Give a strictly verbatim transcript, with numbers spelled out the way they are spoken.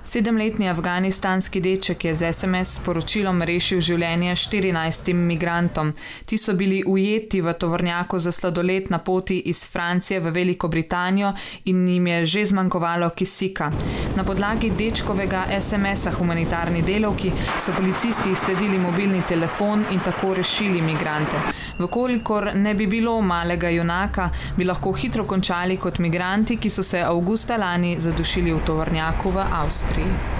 Sedemletni afganistanski deček je z es em es sporočilom rešil življenje štirinajstim migrantom. Ti so bili ujeti v tovornjaku za sladoled na poti iz Francije v Veliko Britanijo in jim je že zmanjkovalo kisika. Na podlagi dečkovega es em esa humanitarni delavki so policisti izsledili mobilni telefon in tako rešili migrante. Vkolikor ne bi bilo malega junaka, bi lahko hitro končali kot migranti, ki so se avgusta lani zadušili v tovornjaku v Avstriji.